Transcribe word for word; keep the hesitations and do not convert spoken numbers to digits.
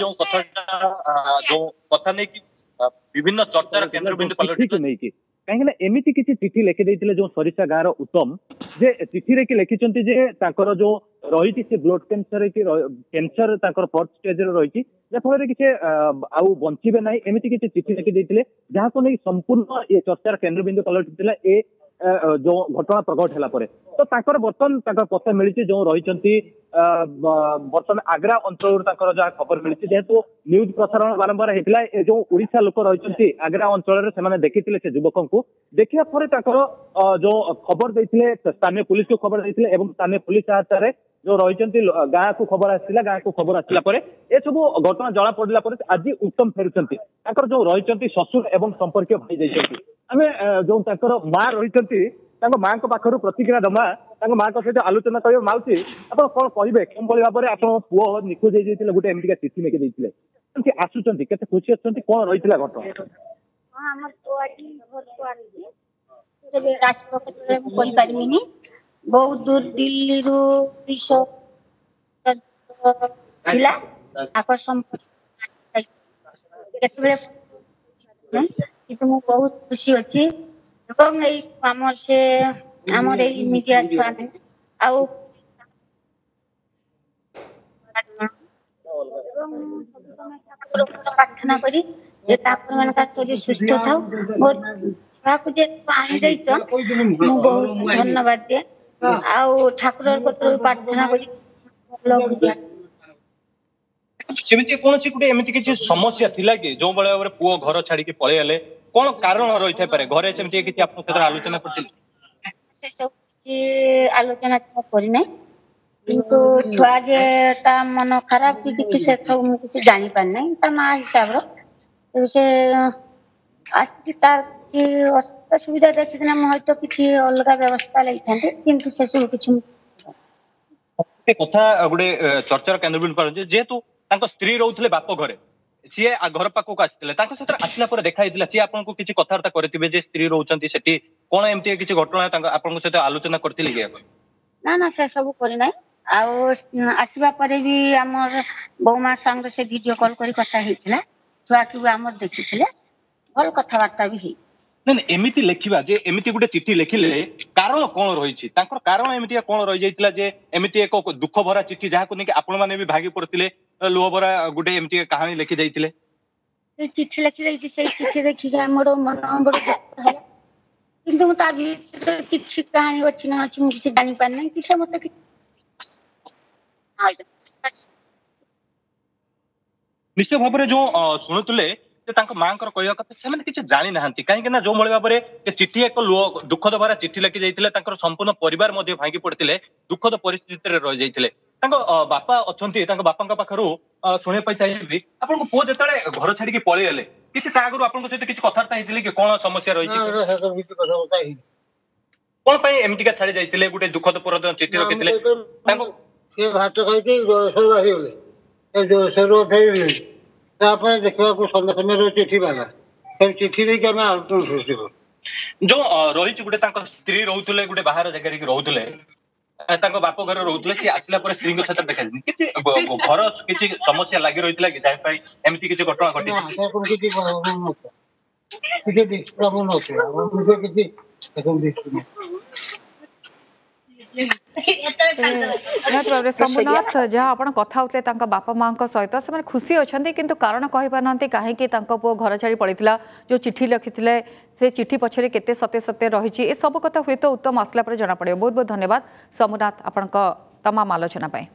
ଯୋଉ କଥାଟା, ଯୋଉ କଥା ନେଇକି ବିଭିନ୍ନ ଚର୍ଚ୍ଚାର କେନ୍ଦ୍ରବିନ୍ଦୁ ପାଲଟିକୁ ନେଇକି, କାହିଁକି ନା ଏମିତି କିଛି ଚିଠି ଲେଖି ଦେଇଥିଲେ ଯୋଉ ସରିସା ଗାଁର ଉତ୍ତମ, ଯେ ଚିଠିରେ କି ଲେଖିଛନ୍ତି ଯେ ତାଙ୍କର ଯୋଉ ରହିଛି ସେ ବ୍ଲଡ କ୍ୟାନ୍ସର କି କ୍ୟାନ୍ସର ତାଙ୍କର ଫୋର୍ଥ ଷ୍ଟେଜରେ ରହିଛି, ଯାହାଫଳରେ କି ସେ ଆଉ ବଞ୍ଚିବେ ନାହିଁ। ଏମିତି କିଛି ଚିଠି ଲେଖି ଦେଇଥିଲେ, ଯାହାକୁ ନେଇ ସମ୍ପୂର୍ଣ୍ଣ ଏ ଚର୍ଚ୍ଚାର କେନ୍ଦ୍ରବିନ୍ଦୁ ପାଲଟିଥିଲା ଏ ଯୋଉ ଘଟଣା ପ୍ରକଟ ହେଲା ପରେ। ତ ତାଙ୍କର ବର୍ତ୍ତମାନ ତାଙ୍କର ପତ୍ତା ମିଳିଛି, ଯୋଉ ରହିଛନ୍ତି ବର୍ତ୍ତମାନ ଆଗ୍ରା ଅଞ୍ଚଳରୁ ତାଙ୍କର ଯାହା ଖବର ମିଳିଛି, ଯେହେତୁ ନ୍ୟୁଜ ପ୍ରସାରଣ ବାରମ୍ବାର ହେଇଥିଲା, ଏ ଯୋଉ ଓଡିଶା ଲୋକ ରହିଛନ୍ତି ଆଗ୍ରା ଅଞ୍ଚଳରେ ସେମାନେ ଦେଖିଥିଲେ ସେ ଯୁବକଙ୍କୁ। ଦେଖିବା ପରେ ତାଙ୍କର ଯୋଉ ଖବର ଦେଇଥିଲେ, ସ୍ଥାନୀୟ ପୁଲିସକୁ ଖବର ଦେଇଥିଲେ ଏବଂ ସ୍ଥାନୀୟ ପୁଲିସ ସହାୟତାରେ ଯୋଉ ରହିଛନ୍ତି ଗାଁକୁ ଖବର ଆସିଥିଲା। ଗାଁକୁ ଖବର ଆସିଲା ପରେ ଏସବୁ ଘଟଣା ଜଣା ପଡିଲା ପରେ ଆଜି ଉତ୍ତମ ଫେରୁଛନ୍ତି। ତାଙ୍କର ଯୋଉ ରହିଛନ୍ତି ଶ୍ୱଶୁର ଏବଂ ସମ୍ପର୍କୀୟ ଭାଇ ଯାଇଛନ୍ତି। ଆମେ ଯୋଉ ତାଙ୍କର ମା ରହିଛନ୍ତି, ତାଙ୍କ ମାଙ୍କ ପାଖରୁ ପ୍ରତିକ୍ରିୟା ଦମା, ତାଙ୍କ ମାଙ୍କ ସହିତ ଆଲୋଚନା କରିବା। ମାଉସୀ, ଆପଣ କଣ କହିବେ, କେଉଁଭଳି ଭାବରେ ଆପଣଙ୍କ ପୁଅ ନିଖୋଜ ହେଇଯାଇଥିଲେ, ଗୋଟେ ଏମିତିକା ଚିଠି ଲେଖି ଦେଇଥିଲେ, ଏମିତି ଆସୁଛନ୍ତି, କେତେ ଖୁସି ଅଛନ୍ତି, କଣ ରହିଥିଲା ଘଟଣା? ହଁ, ଆମର ପୁଅ ଆଜି ଘରକୁ ଆସିଛି। ତେବେ ଆସିବ କେତେବେଳେ ମୁଁ କହିପାରିବିନି। ବହୁତ ଦୂର ଦିଲ୍ଲୀରୁ ଦୁଇଶହ ଥିଲା ତାଙ୍କର ସମ୍ପର୍କ କେତେବେଳେ, କିନ୍ତୁ ମୁଁ ବହୁତ ଖୁସି ଅଛି। ଏବଂ ଏଇ ଆମର ସେ ଆମର ଏଇ ମିଡିଆ ଛୁଆମାନେ ଆଉ ଏବଂ ପ୍ରାର୍ଥନା କରି ଯେ ତାଙ୍କ ମାନଙ୍କର ଶରୀର ସୁସ୍ଥ ଥାଉ। ମୋ ଛୁଆକୁ ଯେ ଆଣି ଦେଇଛ, ମୁଁ ବହୁତ ଧନ୍ୟବାଦ ଦିଏ ଆଉ ଠାକୁରଙ୍କ କତିରେ ପ୍ରାର୍ଥନା କରି ଭଲ। ସେମିତି କୌଣସି ଗୋଟେ ଏମିତି କିଛି ସମସ୍ୟା ଥିଲା କି, ଯୋଉ ଭଳି ଭାବରେ ପୁଅ ଘର ଛାଡିକି ପଳେଇଗଲେ? କଣ କାରଣ ରହିଥାଇପାରେ ଘରେ? ସେମିତି କିଛି ଆପଣଙ୍କ ସହିତ ଆଲୋଚନା କରିଥିଲେ? ସେ ସବୁ କିଛି ଆଲୋଚନା କରିନାହିଁ, କିନ୍ତୁ ଛୁଆ ଯେ ତା ମନ ଖରାପ କି କିଛି ସେ ସବୁ ମୁଁ କିଛି ଜାଣିପାରିନାହିଁ। ତା ମା ହିସାବର ସେ ଆସିକି ତାର କିଛି ଅସୁବିଧା ଦେଖିକିନା ମୁଁ ହয়তো କିଛି ଅଲଗା ବ୍ୟବସ୍ଥା ନେଇଥାନ୍ତି, କିନ୍ତୁ ସେସବୁ କିଛି ଗୋଟେ କଥା ଗୋଟେ ଚର୍ଚ୍ଚାର କେନ୍ଦ୍ରବିନ୍ଦୁ ପାରୁଛି, ଯେହେତୁ ତାଙ୍କ ସ୍ତ୍ରୀ ରହୁଥିଲେ ବାପ ଘରେ, ସିଏ ଘର ପାଖକୁ ଆସିଥିଲେ, ତାଙ୍କ ସହିତ ଆସିଲା ପରେ ଦେଖା ହେଇଥିଲା, ସିଏ ଆପଣଙ୍କୁ କିଛି କଥାବାର୍ତ୍ତା କରିଥିବେ ଯେ ସ୍ତ୍ରୀ ରହୁଛନ୍ତି ସେଠି, କଣ ଏମିତି କିଛି ଘଟଣା ତାଙ୍କ ଆପଣଙ୍କ ସହିତ ଆଲୋଚନା କରିଥିଲେ କି? ନା ନା, ସେ ସବୁ କରିନାହିଁ। ଆଉ ଆସିବା ପରେ ବି ଆମର ବୋଉମା ସାଙ୍ଗରେ ସେ ଭିଡିଓ କଲ୍ କରି କଥା ହେଇଥିଲା, ଛୁଆକୁ ବି ଆମର ଦେଖିଥିଲେ, ଭଲ କଥାବାର୍ତ୍ତା ବି ହେଇ ନାଇଁ ନାଇଁ, ଏମିତି ଲେଖିବା ଯେ ଏମିତି ଗୋଟେ ଚିଠି ଲେଖିଲେ, କାରଣ କଣ ରହିଛି ତାଙ୍କର? କାରଣ ଏମିତିକା କଣ ରହିଯାଇଥିଲା ଯେ ଏମିତି ଏକ ଦୁଃଖ ଭରା ଚିଠି, ଯାହାକୁ ନେଇକି ଆପଣ ମାନେ ବି ଭାଙ୍ଗି ପଡିଥିଲେ, ଲୁହ ଭରା ଗୋଟେ ଏମିତି କାହାଣୀ ଲେଖି ଯାଇଥିଲେ? ସେ ଚିଠି ଲେଖି ଦେଇଛି, ସେଇ ଚିଠି ଦେଖିକି ଆମର ମନ ବଡ ଦୁଃଖ ହେଲା, କିନ୍ତୁ ମୁଁ ତା ଭିତରେ କିଛି କାହାଣୀ ଅଛି ନା ଅଛି ମୁଁ କିଛି ଜାଣିପାରିନାହିଁ କି ସେ ମତେ କିଛି ନିଶ୍ଚୟ ଭାବରେ ଯୋଉ ଶୁଣୁଥିଲେ ଯେ ତାଙ୍କ ମାଙ୍କର କହିବା କଥା, ସେମାନେ କିଛି ଜାଣିନାହାନ୍ତି, କାହିଁକି ନା ଯୋଉ ଭଳି ଭାବରେ ସେ ଚିଠି ଏକ ଲୁହ ଦୁଃଖଦ ଭରା ଚିଠି ଲେଖି ଯାଇଥିଲେ, ତାଙ୍କର ସମ୍ପୂର୍ଣ୍ଣ ପରିବାର ମଧ୍ୟ ଭାଙ୍ଗି ପଡିଥିଲେ, ଦୁଃଖଦ ପରିସ୍ଥିତିରେ ରହିଯାଇଥିଲେ। ତାଙ୍କ ବାପା ଅଛନ୍ତି, ତାଙ୍କ ବାପାଙ୍କ ପାଖରୁ ଶୁଣିବା ପାଇଁ ଚାହିଁବି। ଆପଣଙ୍କ ପୁଅ ଯେତେବେଳେ ଘର ଛାଡିକି ପଳେଇଗଲେ, କିଛି ତା ଆଗରୁ ଆପଣଙ୍କ ସହିତ କିଛି କଥାବାର୍ତ୍ତା ହେଇଥିଲେ କି, କଣ ସମସ୍ୟା ରହିଛି, କଣ ପାଇଁ ଏମିତିକା ଛାଡି ଯାଇଥିଲେ, ଗୋଟେ ଦୁଃଖଦ ପରଦିନ ଚିଠି ରଖିଥିଲେ ତାଙ୍କ? ସେ ଭାତ ଖାଇକି ଜଳେଶ୍ୱର ଆସିଗଲେ, ଜଳେଶ୍ୱର ଫେରିଲେ, ତାପରେ ଦେଖିବାକୁ ସନ୍ଧ୍ୟା ସମୟରେ ଚିଠି ବାଲା, ସେ ଚିଠି ଦେଇକି ଆମେ ଆଲୋଚନା ସୃଷ୍ଟି କରୁ। ଯୋଉ ରହିଛି ଗୋଟେ ତାଙ୍କ ସ୍ତ୍ରୀ ରହୁଥିଲେ ଗୋଟେ ବାହାର ଜାଗାରେ କି ରହୁଥିଲେ, ତାଙ୍କ ବାପ ଘରେ ରହୁଥିଲେ, ସିଏ ଆସିଲା ପରେ ସ୍ତ୍ରୀଙ୍କ ସହିତ ଦେଖାଯାଇନି, କିଛି ଘର କିଛି ସମସ୍ୟା ଲାଗି ରହିଥିଲା କି, ଯାହା ପାଇଁ ଏମିତି କିଛି ଘଟଣା ଘଟିଛି? କିଛି କିଛି ନଥିଲା, କିଛି। ନିହାତି ଭାବରେ ଶମ୍ଭୁନାଥ, ଯାହା ଆପଣ କଥା ହେଉଥିଲେ ତାଙ୍କ ବାପା ମାଙ୍କ ସହିତ, ସେମାନେ ଖୁସି ଅଛନ୍ତି କିନ୍ତୁ କାରଣ କହିପାରୁନାହାନ୍ତି କାହିଁକି ତାଙ୍କ ପୁଅ ଘର ଛାଡ଼ି ପଳେଇଥିଲା। ଯେଉଁ ଚିଠି ଲେଖିଥିଲେ, ସେ ଚିଠି ପଛରେ କେତେ ସତ୍ୟ ସତ୍ୟ ରହିଛି, ଏସବୁ କଥା ହୁଏତ ଉତ୍ତମ ଆସିଲା ପରେ ଜଣାପଡ଼ିବ। ବହୁତ ବହୁତ ଧନ୍ୟବାଦ ଶମ୍ଭୁନାଥ ଆପଣଙ୍କ ତମାମ ଆଲୋଚନା ପାଇଁ।